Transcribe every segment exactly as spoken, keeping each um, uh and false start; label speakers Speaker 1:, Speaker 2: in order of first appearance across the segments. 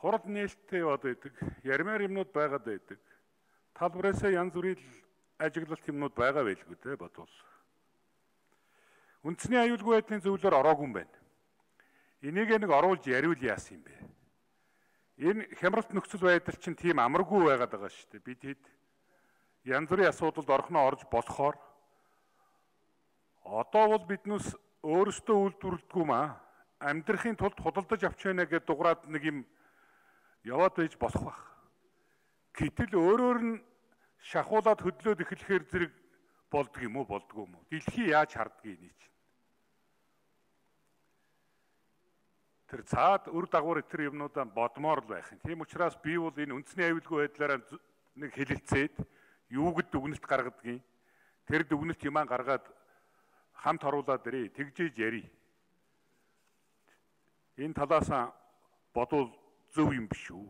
Speaker 1: хурал нээлттэй яваад байдаг, ярмаар юмнууд байгаад байдаг. Талбараасаа янз бүрийн ажиглалт юмнууд байгаа байлгүй те бодвол. Үндэсний аюулгүй байдлын зөвлөөр ороогүй юм байна. Энийг нэг оруулж яриул яасан юм бэ? Энэ хямралт нөхцөл байдал чинь тийм амаргүй байгаад байгаа шүү дээ. Бид хэд янз бүрийн асуудалд орхноо орж болохоор одоо бол биднээс өөрсдөө үйлдвэрлэдэггүй маа амьдрахын тулд худалдаж авч байна гэдээ дуграад нэг юм яваад байж болох байх. Гэтэл өөрөөр нь шахуулаад хөдлөөд эхлэхээр зэрэг болдго юм уу болдгоо юм уу? Дэлхий яаж хардгийг энэ чинь. Тэр цаад үр дагавар тэр юмнуудаа бодмоор л байх юм. Тийм учраас би бол энэ үндэсний аюулгүй байдлаараа нэг хэлэлцээд юуг дүгнэлт гаргадгийг тэр дүгнэлт юмаа гаргаад хамт оруулаад ирээ тэгжээж яри. Энэ талаас бодвол зөв юм биш үү?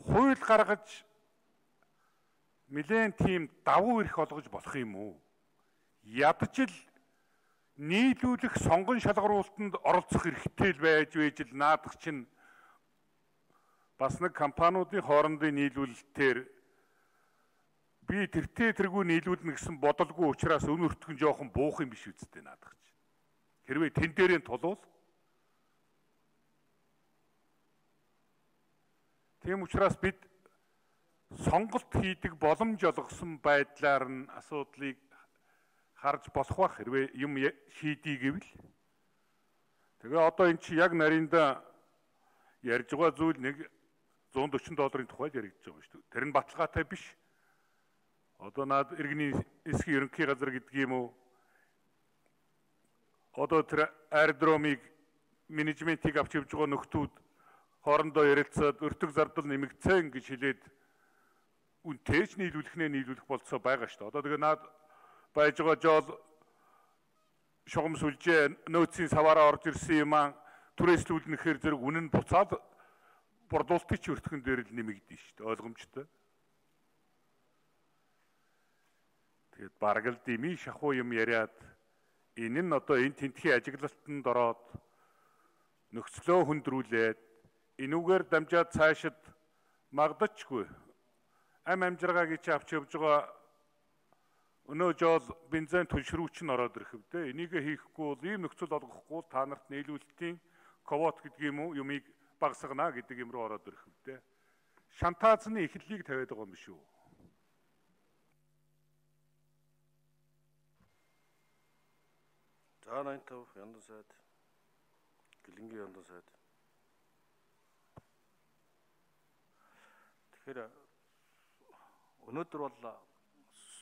Speaker 1: Хууль гаргаж нэлээд тийм давуу эрх олгож болох юм уу? Ядчил нийлүүлэх сонгон шалгаруулалтанд оролцох эрхтэй л байж байж л наадах чинь бас нэг компаниудын хоорондын нийлүүлэлтээр би тэртээ тэргүй нийлүүлнэ гэсэн бодолгүй учраас өн өртгөн жоохон буух юм биш үсттэй наадах чинь. Хэрвээ тэн дээрээ тулвал тийм учраас бид сонголт хийдэг боломж олгосон байдлаар нь асуудлыг харж болох байх хэрвээ юм шийдий гэвэл. Тэгээ одоо эн чи яг нарийнда ярьж байгаа зүйл нэг зуун дөрвөн долларын тухайд яригдж байгаа шүү дээ. Тэр нь баталгаатай биш. Одоо наад иргэний эсхий ерөнхий газар гэдэг юм уу? Одоо тэр аэродромыг менежментийг авч явж байгаа нөхдүүд хоорондоо ярилцаад өртөг зардал нэмэгдсэн гэж хэлээд үнтэйч нийлүүлэхнээ нийлүүлэх болцоо байгаа шүү дээ. Одоо тэгээ наад байж байгаа жол шугам сүлжээ нөөцийн саваараа орж ирсэн юм аа түрээслүүлнэхээр зэрэг үнэн буцаад борлуулалтын өртгөн дээр л нэмэгдэн шүү дээ. Ойлгомжтой. Тэгээд бараг л дими шахуу юм яриад энэ нь одоо энэ тентхийн ажиглалтанд ороод нөхцлөө хүндрүүлээд энүүгээр дамжаад цаашид магдачгүй ам амжиргааг чи авч явж байгаа өнөө жол бензин түлшрүүч нь ороод ирэх вэ? Энийг хийхгүй бол ийм нөхцөл олгохгүй та нарт нийлүүлэлтийн ковот гэдэг юм уу юмыг багасгана гэдэг юм руу ороод ирэх вэ? Шантаазны эхлэлийг тавиад байгаа юм биш үү?
Speaker 2: За найман тав яндан сайд Гэлэнгийн яндан сайд. Тэгэхээр өнөөдөр бол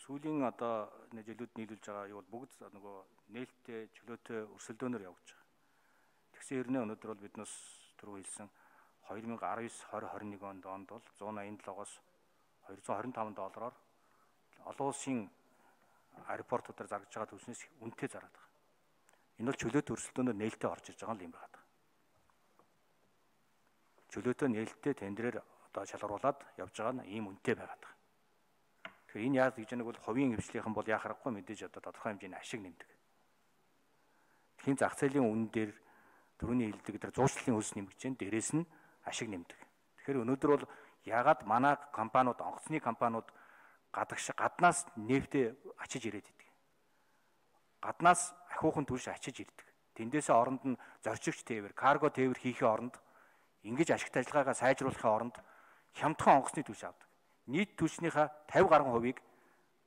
Speaker 2: сүүлийн одоо жилүүд нийлүүлж байгаа юу бол бүгд нөгөө нээлттэй чөлөөтэй өрсөлдөөнөөр явж байгаа. Тэгсэн хэрнээ өнөөдөр бол биднээс түрүү хэлсэн две тысячи десять двадцать тwenty-one онд бол one ninety-seven-оос two hundred twenty-five доллараар олон улсын аэропортуудаар зарж байгаа төлснөөс үнэтэй зараад байгаа. Энэ бол чөлөөтэй өрсөлдөөнөөр нээлттэй орж ирж байгаа юм байна. Чөлөөтэй нээлттэй тендерээр одоо шалгаруулад явж байгаа нь ийм үнэтэй байгаад байгаа. Тэгэхээр энэ яаж гэж нэг бол хувийн хвшлийнхэн бол яхахгүй мэдээж одоо тодорхой хэмжээний ашиг нэмдэг. Тхийн зах зээлийн үнэн дээр түрүүний хэлдэг тэр зуучлалын хөлс нэмгэж जैन дээрээс нь ашиг нэмдэг. Тэгэхээр өнөөдөр бол ягаад манай компаниуд онгоцны компаниуд гадагш гаднаас нефтээ ачиж ирээд идэг. Гаднаас ахиухан түлш ачиж ирдэг. Тэндээсээ оронд нь зорчигч тээвэр, карго тээвэр хийхээ оронд ингэж ашигт ажиллагаагаа сайжруулахын оронд хямдхан онгоцны түлш авдаг. Нийт түлшнийхээ fifty гаруй хувийг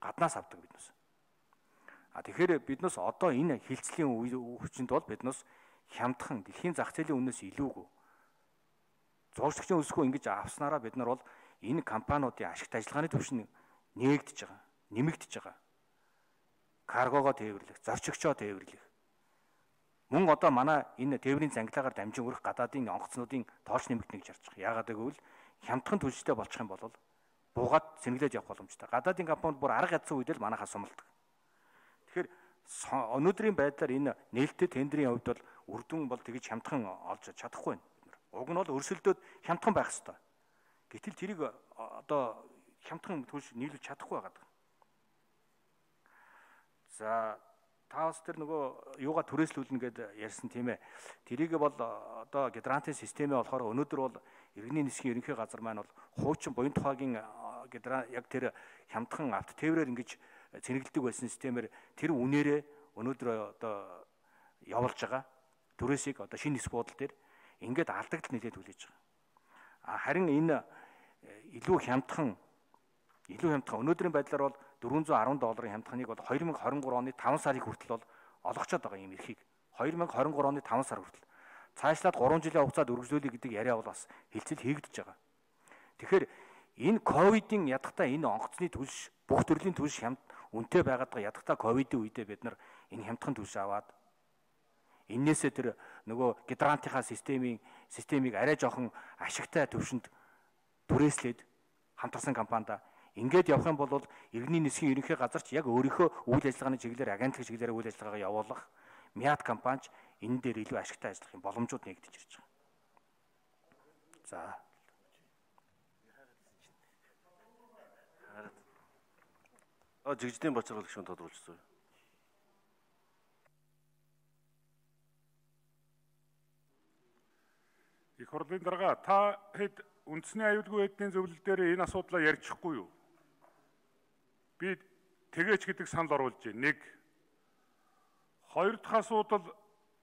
Speaker 2: гаднаас авдаг биднээс. А тэгэхээр биднээс одоо энэ хилцлийн хүчинд бол биднээс хямдхан дэлхийн зах зээлийн үнээс илүүгүй зуршигчийн өсгөө ингэж авснараа бид нар бол энэ компаниудын ашигт ажиллагааны түвш нь нээгдэж байгаа, нэмэгдэж байгаа. Каргогоо тээвэрлэх, зорчигчоо тээвэрлэх. Мөн одоо манай энэ тээврийн цангилаагаар дамжин өрөх гадаадын онгоцнуудын тоолч нэмэгдэнэ гэж харж байгаа. Яагаад гэвэл хямдхан түлштэй болчих юм бол буугаад сэнгэлээд явах боломжтой. Гадаадын компанид бүр арга ядсан үед л манайхаа сумалдаг. Тэгэхээр өнөөдрийн байдлаар энэ нээлттэй тендерийн хувьд бол үр дүн бол тэгж хямдхан олж чадахгүй байна. Уг нь бол өрсөлдөөд хямдхан байх ёстой. Гэтэл тэрийг одоо хямдхан түлш нийлүүлж чадахгүй байгаа. За та бас тэр нөгөө юугаа түрээслүүлнэ гэдээ ярьсан тийм ээ. Тэрийг бол одоо гидранатын системээ болохоор өнөөдөр бол иргэний нисхийн ерөнхий газар маань бол хуучин буян тухайгийн гидран яг тэр хямдхан авто тээврээр ингэж цэнэглэдэг байсан системээр тэр үнээрээ өнөөдөр одоо явуулж байгаа түрээсийг одоо шинэ нис буудал дээр ингээд алдагдал нэлээд хүлээж байгаа. А харин энэ илүү хямдхан илүү хямдхан өнөөдрийн байдлаар бол дөрвөн зуун арван долларын хямдханыг бол две тысячи двадцать три оны таван сарын хүртэл бол олгочод байгаа юм эрхийг. две тысячи двадцать три оны таван сар хүртэл. Цаашлаад гурван жилийн хугацаанд үргэлжлүүлэх гэдэг яриа бол бас хэлцэл хийгдэж байгаа. Тэгэхээр энэ ковидын ядахтаа энэ онгоцны түлш бүх төрлийн түлш хямд үнэтэй байгаад байгаа ядахтаа ковидын үедээ бид нар энэ хямдхан түлш аваад энээсээ тэр нөгөө гидрантынхаа системийн системийг арай жоохон ашигтай төвшөнд түрээслээд хамтарсан компанида ингээд явах юм бол иргэний нисхийн ерөнхий газарч яг өөрийнхөө үйл ажиллагааны чиглэлээр агентлаг чиглэлээр үйл ажиллагаагаа явуулах мяд компанич энэ дээр илүү ашигтай ажиллах юм боломжууд нэгдэж ирж байгаа. За.
Speaker 3: А жигждийн бачрал гишүүн тодруулчихсан.
Speaker 1: Их хурлын дарга та хэд үндэсний аюулгүй байдлын зөвлөл дээр энэ асуудлаа ярьчихгүй юу? Би тэгээч гэдэг санал оруулж байна. Нэг. Хоёр дахь асуудал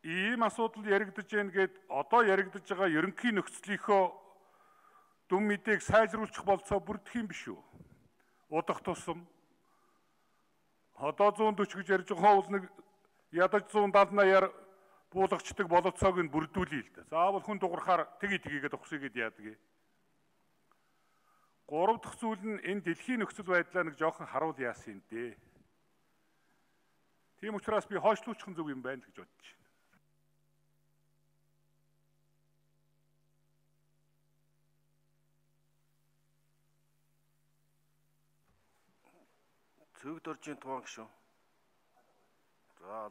Speaker 1: ийм асуудал яригдаж байна гэд одоо яригдаж байгаа ерөнхий нөхцөлийнхөө дүн мэдээг сайжруулах болцоо бүрдэх юм биш үү? Удах тусам одоо one forty гэж ярьж байгаа бол нэг ядаж one seventy-аар буулгачдаг болоцоог нь бүрдүүлээ л да. Заавал хүн дуурахаар тгий тгийгээд ухсыгээд яадаг. Гурав дахь зүйл нь энэ дэлхийн нөхцөл байдлаа нэг жоохон харуул яасан юм дээ. Тийм учраас би хойшлуулчих зүг юм байна гэж бодож байна.
Speaker 3: Цэг доржийн туан гişүн. За